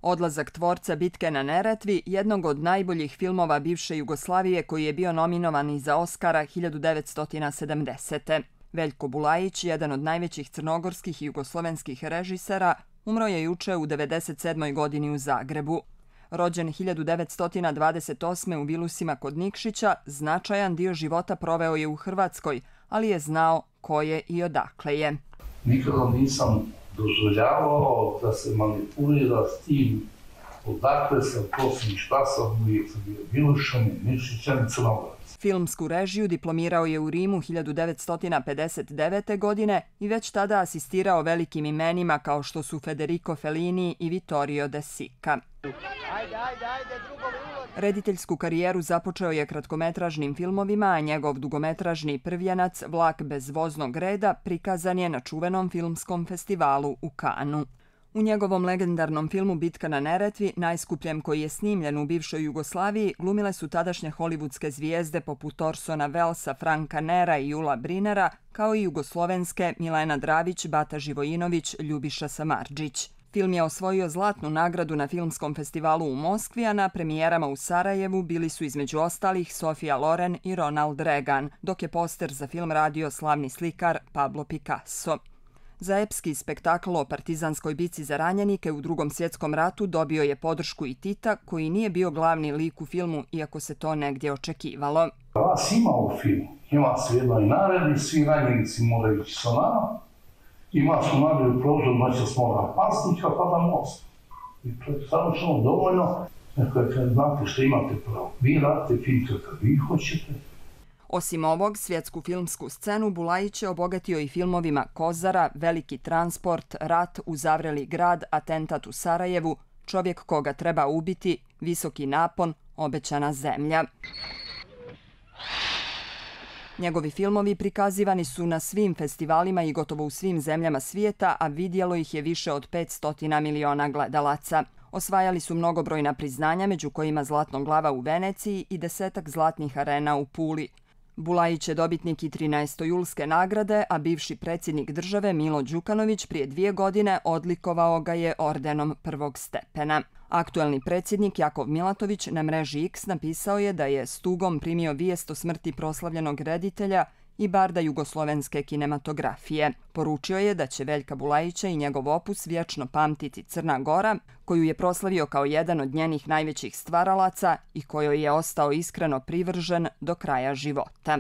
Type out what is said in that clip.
Odlazak tvorca Bitke na Neretvi, jednog od najboljih filmova bivše Jugoslavije koji je bio nominovan i za Oskara 1970. Veljko Bulajić, jedan od najvećih crnogorskih i jugoslovenskih režisera, umro je juče u 97. godini u Zagrebu. Rođen 1928. u Vilusima kod Nikšića, značajan dio života proveo je u Hrvatskoj, ali je znao ko je i odakle je. Nikada nisam dozvoljavao da se manipulira s tim odakle sam, ko sam i šta sam, uvijek sam bio Vilušanin, Nikšićan i Crnogorac. Filmsku režiju diplomirao je u Rimu 1959. godine i već tada asistirao velikim imenima kao što su Federico Fellini i Vittorio De Sica. Rediteljsku karijeru započeo je kratkometražnim filmovima, a njegov dugometražni prvjenac Vlak bez voznog reda prikazan je na čuvenom filmskom festivalu u Kanu. U njegovom legendarnom filmu Bitka na Neretvi, najskupljem koji je snimljen u bivšoj Jugoslaviji, glumile su tadašnje hollywoodske zvijezde poput Orsona Wellesa, Franka Nera i Jula Brinera, kao i jugoslovenske Milena Dravić, Bata Živojinović, Ljubiša Samardžić. Film je osvojio zlatnu nagradu na filmskom festivalu u Moskvi, a na premijerama u Sarajevu bili su između ostalih Sofia Loren i Ronald Reagan, dok je poster za film radio slavni slikar Pablo Picasso. Za epski spektakl o partizanskoj bici za ranjenike u Drugom svjetskom ratu dobio je podršku i Tita, koji nije bio glavni lik u filmu, iako se to negdje očekivalo. Vas ima u filmu, ima se jednoj naredi, svi ranjenici moraju ići sa nama, ima su naredu prozor, noća s moga pasnika, pa da most. I to je savršeno dovoljno, kad znate što imate pravo. Vi radite film kad vi hoćete. Osim ovog, svjetsku filmsku scenu Bulajić je obogatio i filmovima Kozara, Veliki transport, Rat, Uzavreli grad, Atentat u Sarajevu, Čovjek koga treba ubiti, Visoki napon, Obećana zemlja. Njegovi filmovi prikazivani su na svim festivalima i gotovo u svim zemljama svijeta, a vidjelo ih je više od 500 miliona gledalaca. Osvajali su mnogobrojna priznanja, među kojima Zlatnog glava u Veneciji i 10 zlatnih arena u Puli. Bulajić je dobitnik i 13. julske nagrade, a bivši predsjednik države Milo Đukanović prije 2 godine odlikovao ga je ordenom prvog stepena. Aktuelni predsjednik Jakov Milatović na mreži X napisao je da je s tugom primio vijest o smrti proslavljenog reditelja i barda jugoslovenske kinematografije. Poručio je da će Veljka Bulajića i njegov opus vječno pamtiti Crna Gora, koju je proslavio kao jedan od njenih najvećih stvaralaca i kojoj je ostao iskreno privržen do kraja života.